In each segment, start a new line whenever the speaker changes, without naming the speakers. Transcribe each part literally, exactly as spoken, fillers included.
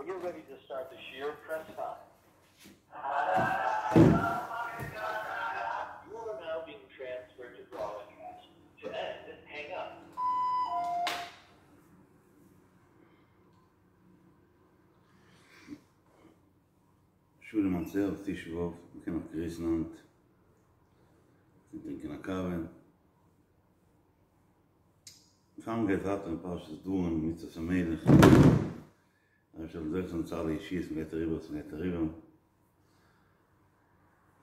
you're ready to start the shiur, press five. You are now being transferred to broadcast. To end, hang up.
שלום און ערב תשעה באב, מ'קען נאך גריסן היינט, און טרינקען א קאווע. פאר מ'גייט ווייטער אין פרשת דברים מצוות המלך, דער אייבערשטער זאל זוכה זיין צו אלע ישועות, מ'גייט אריבער וואס מ'גייט אריבער.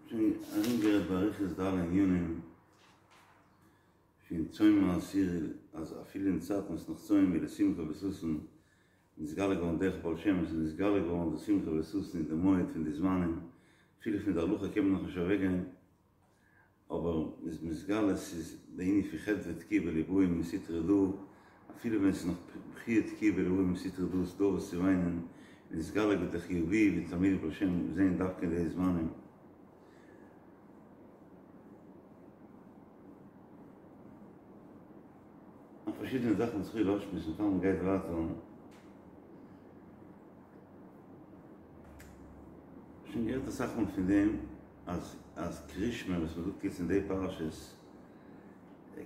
שוין ארומגערעדט באריכות די אלע ענינים פון צום העשירי, אז אפילו אין צייטן וואס נאך צום איז לשמחה וששון, נתגלה געווארן דרך בעל שם איז נתגלה געווארן די שמחה וששון אין די מועד פון די זמנים, אפילו פון די הלכה קען מען נאכנישט אוועקגיין, אבער מ'איז מתגלה ס'איז די ענין פון חדוה תקיעא בליבאי מסטרא דא, אפילו ווען ס'איז נאך בכיה תקיעא בליבאי מסטרא דא איז דא וואס צו וויינען, נתגלה געווארן די חיובי ווי תלמידי בעל שם זעהן דווקא אין די זמנים. נאך פארשידענע זאכן וואס כ'וויל אויסשמועסן פאר מ'גייט ווייטער. שוין געהערט אסאך מאל פון דעם אז אז קרישמע וואס מ'זאגט יעצט אין די פרשת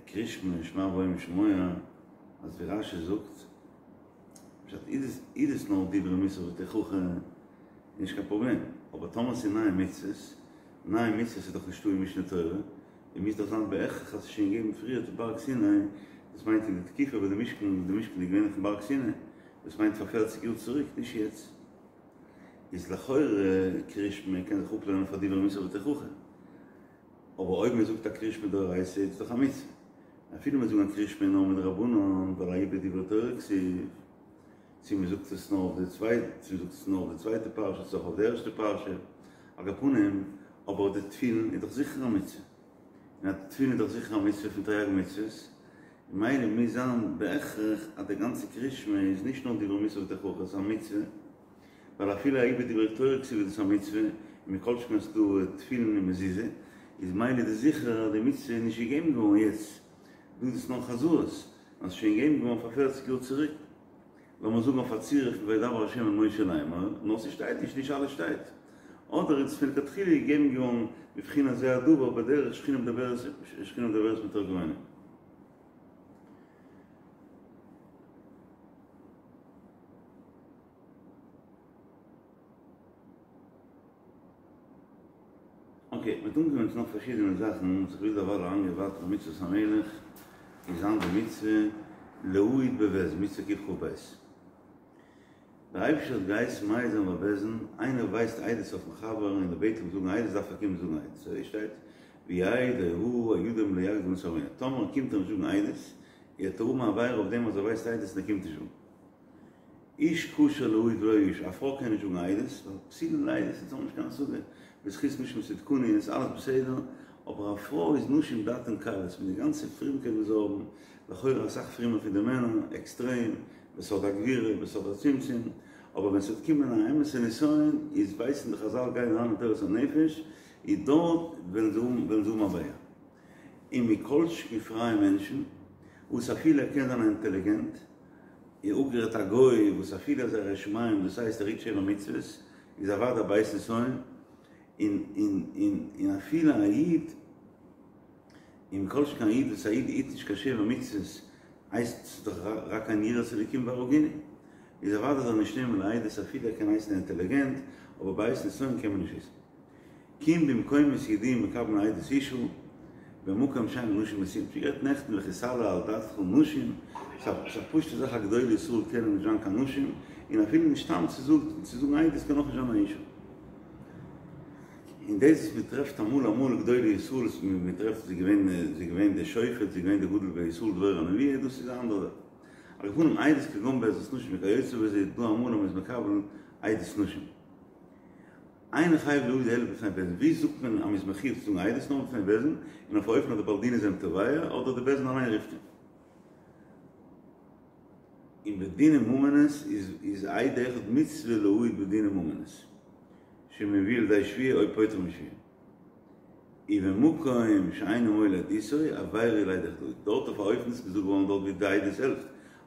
קרישמע שמע והיה אם שמוע אז ווי רשי זאגט פשט איז דאס נאר דברי מוסר ותוכחה נישט קיין פראבלעם אבער טאמער ס'איז נייע מצוות נייע מצוות איז דאך נישטא אין משנה תורה און מוז דאך זיין בהכרח אז ס'איז שוין געגעבן פריער אויפן בארג סיני, דאס מיינט אין די תקופה וואס די משכן די משכן איז געווען אויפן בארג סיני, דאס מיינט פאר פערציג יאר צוריק, נישט יעצט. איז לכאורה קרישמע קען זיך אפלערנען פאר דברי מוסר ותוכחה. אבער אויב מען זאגט א קרישמע דאורייתא איז עס דאך א מצוה. אפילו מען זאגט א קרישמע נאר מדרבנן ווייל ההוא בדברי תורה כתיב, צו מען זאגט עס נאר אויף די צווייטע, צו מען זאגט עס נאר אויף די צווייטע פרשה צו אויך אויף די ערשטע פרשה, על כל פנים, אבער די תפילין איז דאך זיכער א מצוה, און אז די תפילין איז דאך זיכער א מצוה פון תרי"ג מצוות, ממילא מוז זיין בהכרח אז די גאנצע קרישמע איז נישט נאר דברי מוסר ותוכחה, עס איז א מצוה, ווייל אפילו ההוא בדברי תורה כתיב איז דאס א מצוה, און מכל שכן אז ס'איז דא תפילין און מזוזה, איז ממילא איז דאס זיכער אז די מצוה איז נישט געגעבן געווארן יעצט, דא איז עס נאר חזרות, נאר עס איז שוין געגעבן געווארן פאר פערציג יאר צוריק. לאמיר זאגן אויף א צירוף פון וידבר ה' אל משה לאמור, נאר ס'שטייט נישט, נישט אלעס שטייט. אדער איז עס מלכתחילה געגעבן געווארן בבחינת זה הדבר בדרך שכינה מדברת שכינה מדברת מתוך גרונו. אקעי, מ'האט אנגעקומען צו נאך פארשידענע זאכן וואס איך וויל דערווייל אריינגיין ווייטער מצוות המלך איז היינט די מצוה להעיד בבית דין מצוה קכ"ב. דער אייבערשטער האט געהייסן מעיד זיין בבית דין, איינער ווייסט עדות אויפן חבר און ער בעט אים זאגן עדות דארף ער קומען זאגן עדות, אזוי שטייט ויעיד ההוא הידום לא יקדים את עוונו, טאמער קומט ער נישט זאגן עדות, וועט ער האבן א עבירה אויף דעם אז ער ווייסט עדות און ער קומט נישט זאגן. איש כשר להעיד ולא אשה, א פרוי קען נישט זאגן עדות, ווייל פסולין לעדות, אונז האבן נישט קיין השגה, בזכות נשים צדקניות איז אלעס בסדר, אבער א פרוי איז נשים דעתן קלות, מיט די גאנצע פרומקייט וואס זיי האבן, לכאורה אסאך פרומער פון די מענער, עקסטרעם, בסוד הגבורה, בסוד הצמצום, אבער ווען ס'וועט קומען א אמת'ע נסיון, איז ווייסן די חזל גייען אריין אין תורת הנפש, איז דארט וועלן זיי האבן וועלן זיי האבן א בעיה. און מכל שכן פרייע מענטשן, וואס אפילו ער קען זיין א אינטעליגענט, און אפגערעדט א גוי וואס אפילו אז ער איז ירא שמים דאס הייסט ער היט שבע מצוות איז אוודאי בעת נסיון, און און און און אפילו א איד, און מכל שכן א איד וואס א איד היט נישט קיין שבע מצוות הייסט ס'איז דאך רק אין יראת אלוקים והרגוני, איז אוודאי זאל נישט נעמען לעדות אפילו ער קען הייסן אינטעליגענט, אבער בעת נסיון קען מען נישט וויסן. כי אם במקומות ידועים מקבלין עדות אשה, במקום שאין נשים נשואים. שוין גערעדט נעכטן וכי תעלה על דעתך נשים, ס'איז א פשוטע זאך אז גדולי ישראל קענען נישט זיין קיין נשים, און אפילו נישט סתם צו זאגן עדות קען אויך נישט זיין א אישה. און דאס וואס מען טרעפט אמאל אמאל גדולי ישראל וואס מען טרעפט זי געווען זי געווען די שופט זי געווען די גדול בישראל דבורה הנביאה דאס איז א אנדערע זאך. על כל פנים עדות כגון בעזרת נשים וכיוצא בזה איז דא אמאל אז מען איז מקבל עדות נשים. אינו חייב להעיד אלא בפני בית דין, ווי זאגט מען אז מ'איז מחיוב צו זאגן עדות נאר בפני בית דין, און אויף א אופן אז די בעל דין איז אים תובע, אדער די בית דין אליין רופט אים. און בדיני ממונות איז איז עד אחד מצוה להעיד בדיני ממונות, שמביא לידי שבועה או פוטר משבועה. ובמקום שאינו מועיל עדותו, עבירה לעד אחד, דארט אויף א אופן איז געזאגט געווארן דארט ווי די עדות העלפט,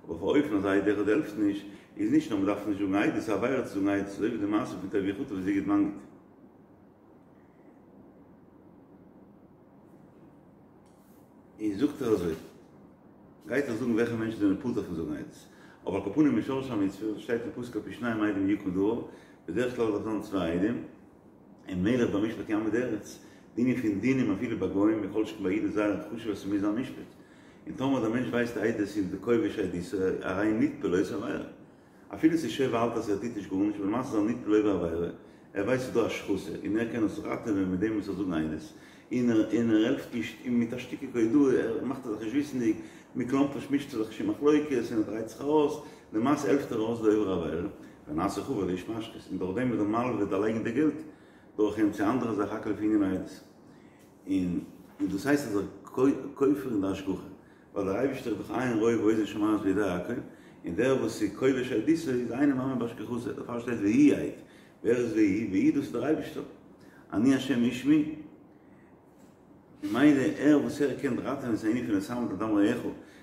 אבער אויף אן אופן אז עד אחד העלפט נישט, איז נישט נאר מ'דארף נישט זאגן עדות, ס'איז א עבירה צו זאגן עדות, אזוי ווי די מעשה פון טוביה חטא וסיגוט מגיד. און זאגט ער אזוי, גייט ער זאגן וועלכע מענטשן זענען פטור פון זאגן עדות, אבער על כל פנים משרש המצוה, וואס שטייט אין פסוק על פי שניים עדים יקום דבר, בדרך כלל דארף זיין צוויי עדים, און מלך במשפט יעמיד ארץ, די ענין פון דינים אפילו ביי גוים, מכל שכן ביי אידן איז זייער חשוב אז ס'מוז זיין משפט, און טאמער דער מענטש ווייסט עדות און די כובש עדותו הרי הוא נתפל לעושה עבירה. אפילו ס'איז שור האלט אז ער טוט נישט גארנישט אבער למעשה איז ער נטפל לעובר עבירה, ער ווייסט ס'איז דא השחתה און ער קען עס ראטעווען מיט דעם וואס ער זאגן עדות, און ער און ער העלפט נישט און מיט א שטיקל הודאה ער מאכט זיך נישט וויסנדיג, מכלומרשט מישט ער זיך נישט אין מחלוקת און ער דרייט זיך ארויס, למעשה העלפט ער ארויס די עובר עבירה, ונעשה חבר לאיש משחית, און דורך דעם איז דער מלווה דערלייגן די געלט דורך אים צו אנדערע זאך הכל לפי ענין העדות. און און דאס הייסט אז ער כופר אין די השגחה. ווייל דער אייבערשטער איז דאך עין רואה ואוזן שומעת ויודע הכל, און דער וואס איז כובש עדותו איז אינו מאמין בהשגחתו, דערפאר שטייט והוא עד, ווער איז והוא? והוא דאס איז דער אייבערשטער, אני השם ושמי, ממילא ער וואס ער קען ראטעווען ס'איז א ענין פון לא תעמוד על דם רעך,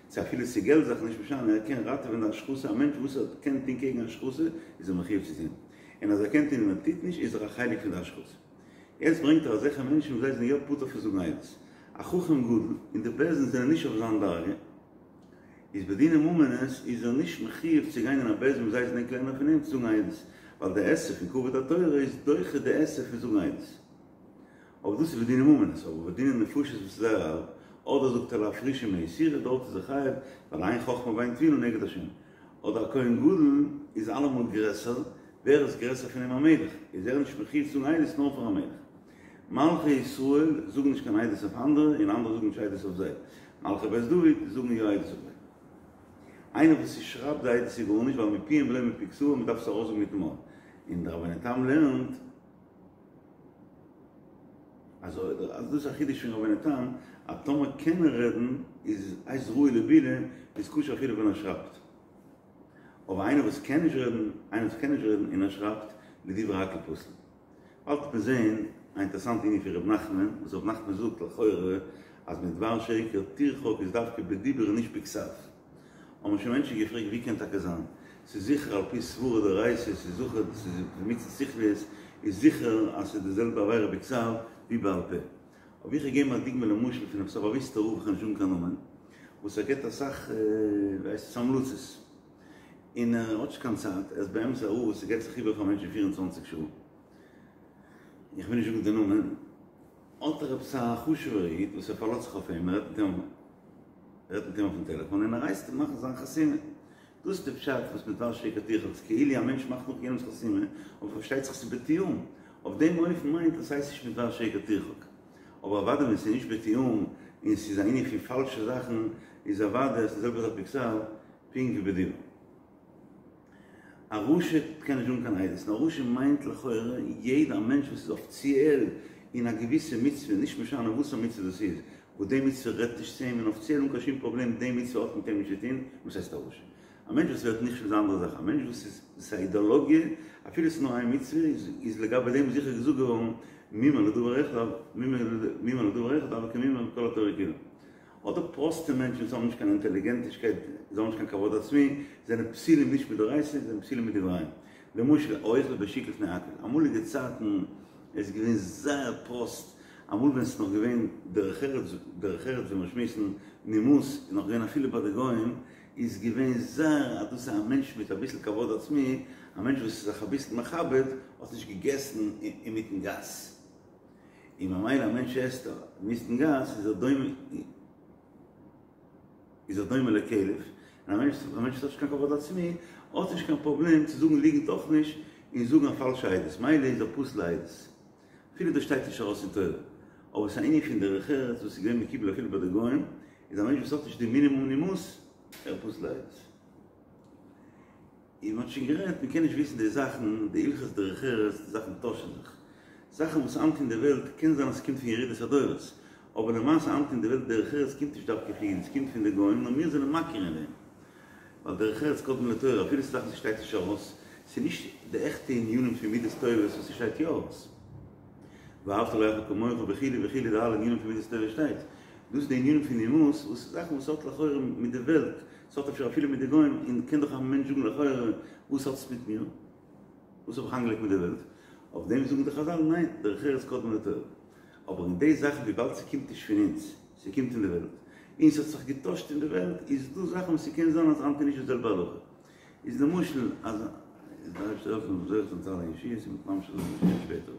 צו אפילו ס'איז געלט זאכן נישט משנה, ער קען ראטעווען די השחתה, א מענטש וואס ער קען טון קעגן השחתה איז ער מחויב צו טון, און אז ער קען טון און ער טוט נישט איז ער א חלק פון די השחתה. יעצט ברענגט ער אזעלכע מענטשן וואס זיי זענען יא פטור פון זאגן עדות. א חכם גדול, און די בית דין זענען נישט אויף זיין דרגה, איז בדיני ממונות איז ער נישט מחויב צו גיין אין א בית דין וואס זיי זענען קלענער פון אים צו זאגן עדות, ווייל די עשה פון כבוד התורה איז דוחה די עשה פון זאגן עדות. אבער דאס איז בדיני ממונות, אבער בדיני נפשות וואס איז זייער הארב, אדער זאגט ער לאפרושי מאיסורא, דארט איז ער חייב, ווייל אין חכמה ואין תבונה נגד השם. אדער א כהן גדול איז אלעמאל גרעסער, ווער איז גרעסער פון אים א מלך, איז ער נישט מחויב צו זאגן עדות נאר פאר א מלך. מלכי ישראל זאגן נישט קיין עדות אויף אנדערע און אנדערע זאגן נישט עדות אויף זיי. מלכי בית דוד זאגן יא עדות אויף זיי. איינער וואס ס'שרייבט די עדות איז גארנישט ווייל מפיהם ולא מפי כתבם מ'דארף עס ארויסזאגן מיטן מויל. און דער רבינו תם לערנט אז אז דאס איז א חידוש פון רבינו תם אז טאמער קען ער רעדן איז הייסט ראוי לבילה איז כשר אפילו ווען ער שרייבט. אבער איינער וואס קען נישט רעדן איינער וואס קען נישט רעדן און ער שרייבט לדברי הכל פסול. באלד וועט מען זעהן א אינטערעסאנטע ענין פון ר' נחמן, וואס ר' נחמן זאגט לכאורה אז מדבר שקר תרחק איז דווקא בדיבור און נישט בכתב. האבן שוין מענטשן געפרעגט ווי קען טאקע זיין? ס'איז זיכער על פי סברא דאורייתא, ס'איז זיכער ס'איז מצות שכליות, איז זיכער אז ס'איז די זעלבע עבירה בכתב ווי בעל פה. אבער איך וועל געבן א דוגמא למשל פון עפעס א באוויסטע רב, כ'וועל נישט זאגן קיין נאמען, וואס ער געבט אסאך ווי הייסט עס המלצות, און ער האט נישט קיין צייט, ער איז באמת א רב וואס געבט זיך איבער פאר מענטשן פֿיר און צוואַנציק שעה, איך וויל נישט זאגן די נאמען, האט ער עפעס א חשוב'ער איד וואס ער פארלאזט זיך אויף אים, ער רעדט מיט אים, ער רעדט מיט אים אויפן טעלעפאן און ער הייסט אים מאכן זיין חתימה, דאס איז די פשט וואס מדבר שקר תרחק, כאילו א מענטש מאכט נאך יענעמ'ס חתימה, אבער פארשטייט זיך ס'איז בתיאום, אויף דעם אופן מיינט עס הייסט נישט מדבר שקר תרחק, אבער אוודאי ווען ס'איז נישט בתיאום און ס'איז א ענין פון פאלשע זאכן איז אוודאי אז ס'איז די זעלבע זאך בכתב פונקט ווי בדיבור. א רשע קען נישט זאגן קיין עדות, און א רשע מיינט לכאורה יעדע א מענטש וואס איז אפיציעל אין א געוויסע מצוה, נישט משנה וואס א מצוה דאס איז, וואס די מצוה רעדט נישט צו אים און אפיציעל אן קיין שום פראבלעם די מצוה האט מיט אים נישט צו טון, וואס הייסט א רשע? א מענטש וואס ווערט נכשל איז א אנדערע זאך, א מענטש וואס איז דאס איז א אידאלאגיע, אפילו עס איז נאר איין מצוה, איז לגבי דעם זיכער געזאגט געווארן מומר לדבר אחד, מומר לדבר אחד הוי כמומר בכל התורה כולה. אדער פראסטע מענטשן וואס האבן נישט קיין אינטעליגענטישקייט, זיי האבן נישט קיין כבוד עצמי, זענען פסולים נישט מדאורייתא, זענען פסולים מדבריהם. למשל, האוכל בשוק לפני הכל. אמאליגע צייטן איז געווען זייער פראסט, אמאל ווען ס'איז נאך געווען דרך ארץ, דרך ארץ ווי מיר שמועסן, נימוס איז נאך געווען אפילו ביי די גוים, איז געווען זייער אז דאס איז א מענטש מיט אביסל כבוד עצמי, א מענטש וואס איז זיך אביסל מכבד, האט נישט געגעסן אינמיטן גאס. און ממילא א מענטש עסט אינמיטן גאס איז ער דומה איז ער דומה לכלב, און א מענטש א מענטש וואס האט נישט קיין כבוד עצמי האט נישט קיין פראבלעם צו זאגן ליגנט אויך נישט און זאגן א פאלשע עדות, מילא איז ער פסול לעדות אפילו דאס שטייט נישט ארויס אין תורה, אבער ס'איז א ענין פון דרך ארץ וואס איז געווען מקובל אפילו ביי די גוים, איז א מענטש וואס האט נישט די מינימום נימוס ער פסול לעדות. און מ'האט שוין גערעדט, מ'קען נישט וויסן די זאכן, די הלכות דרך ארץ, די זאכן טוישן זיך. זאכן וואס היינט אין די וועלט, קען זיין אז ס'קומט פון ירידת הדורות, אבער למעשה היינט אין די וועלט דרך ארץ קומט נישט דווקא פון אידן, ס'קומט פון די גוים, נאר מיר זענען מכיר אין דעם. ווייל דרך ארץ קדמה לתורה, אפילו ס'איז זאכן וואס ס'שטייט נישט ארויס, ס'איז נישט די עכטע ענינים פון מידות טובות וואס ס'שטייט יא ארויס. ואהבת לרעך כמוך וכו' וכו' די אלע ענינים פון מידות טובות שטייט. דאס איז די ענינים פון נימוס, וואס איז זאכן וואס האט לכאורה מיט די וועלט, ס'האט אפשר אפילו מיט די גוים, און קען דאך א מענטש זאגן לכאורה, וואס האט עס מיט מיר? וואס האב איך איינגעלייגט מיט די וועלט? אויף דעם זאגן די חזל, ניין, דרך ארץ קדמה לתורה. אבער אין די זאכן וויבאלד ס'קומט נישט פון אונז, ס'קומט פון די וועלט, און ס'האט זיך געטוישט אין די וועלט, איז דא זאכן וואס ס'קען זיין אז היינט איז נישט די זעלבע הלכה. איז למשל אז דער אייבערשטער העלפן מ'זאל זוכה זיין צו אלע ישועות און מ'וועט ממשיך זיין שפעטער.